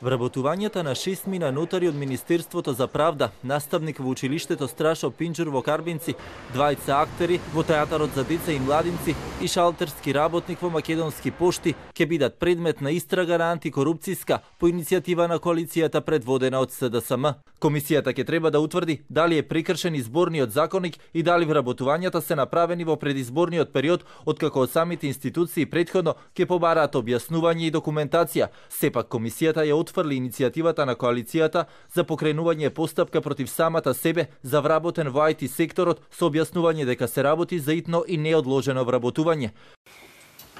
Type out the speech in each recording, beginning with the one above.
Вработувањата на 6 мина нотари од Министерството за правда, наставник во училиштето Страшо Пинџур во Карбинци, двајца актери во театарот за деца и младинци и шалтерски работник во Македонски пошти ќе бидат предмет на истрага на антикорупцијска по иницијатива на коалицијата предводена од СДСМ. Комисијата ќе треба да утврди дали е прекршен изборниот законник и дали вработувањата се направени во предизборниот период, откако од самите институции претходно ќе побараат објаснување и документација. Сепак комисијата ја отфрли иницијативата на коалицијата за покренување постапка против самата себе за вработен во IT секторот со објаснување дека се работи за итно и неодложено вработување.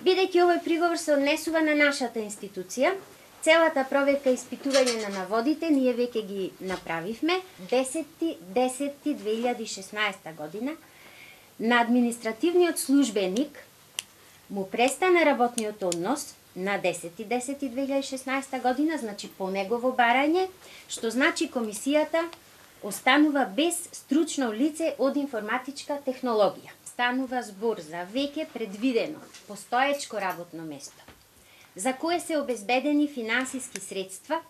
Бидејќи овој приговор се однесува на нашата институција, целата проверка и испитување на наводите ние веќе ги направивме 10.10.2016 година. На административниот службеник му престана работниот однос на 10.10.2016 година, значи по негово барање, што значи комисијата останува без стручно лице од информатичка технологија. Станува збор за веќе предвидено постоечко работно место, за кое се обезбедени финансиски средства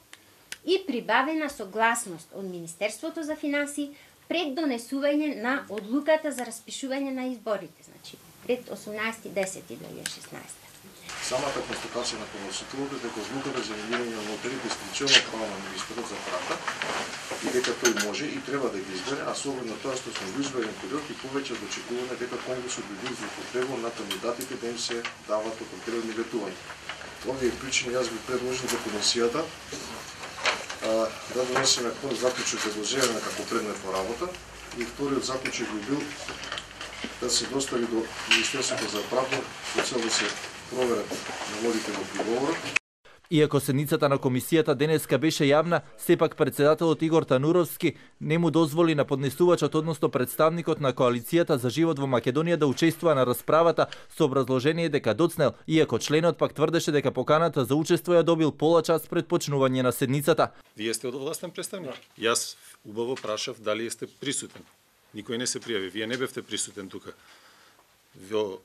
и прибавена согласност од Министерството за финансии пред донесување на одлуката за распишување на изборите, значи пред 18.10.2016. Самата констатација на подносителот е дека одлуката за именување на нотари дискреционно право на министерот за правда и дека тој може и треба да ги избере, а со оглед на тоа што сме во изборен период и повеќе од очекуваме дека Конгресот би бил злоупотребен на кандидатите да им се дават определени ветувања. Овие причини јас би предложил за комисијата да донесеме прв заклучок за го земеме како предмет во работа и вториот заклучок би бил да се достави до Министерството за правда со цел да се проверат наводите во приговорот. Иако седницата на комисијата денеска беше јавна, сепак председателот Игор Тануровски не му дозволи на поднесувачот, односно представникот на коалицијата за живот во Македонија да учествува на расправата со образложение дека доцнел, иако членот пак тврдеше дека поканата за учество ја добил пола час пред почнување на седницата. Вие сте одвластен представник? Јас убаво прашав дали сте присутен. Никој не се пријави. Вие не бевте присутен тука. Во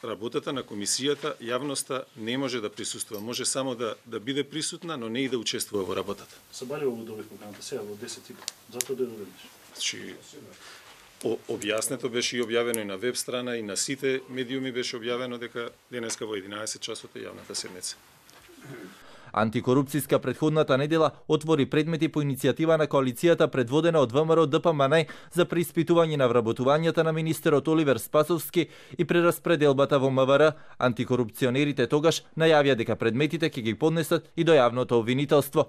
работата на комисијата јавноста не може да присуствува, може само да биде присутна, но не и да учествува во работата. Сабалево го добив поканата сега во 10:00. Затоа да додадеш. Значи објаснето беше и објавено и на веб страна и на сите медиуми беше објавено дека денеска во 11 часот е јавната седница. Антикорупцијска претходната недела отвори предмети по иницијатива на коалицијата предводена од ВМРО ДПМН за преиспитување на вработувањата на министерот Оливер Спасовски и прераспределбата во МВР. Антикорупционерите тогаш најавија дека предметите ќе ги поднесат и до јавното обвинителство.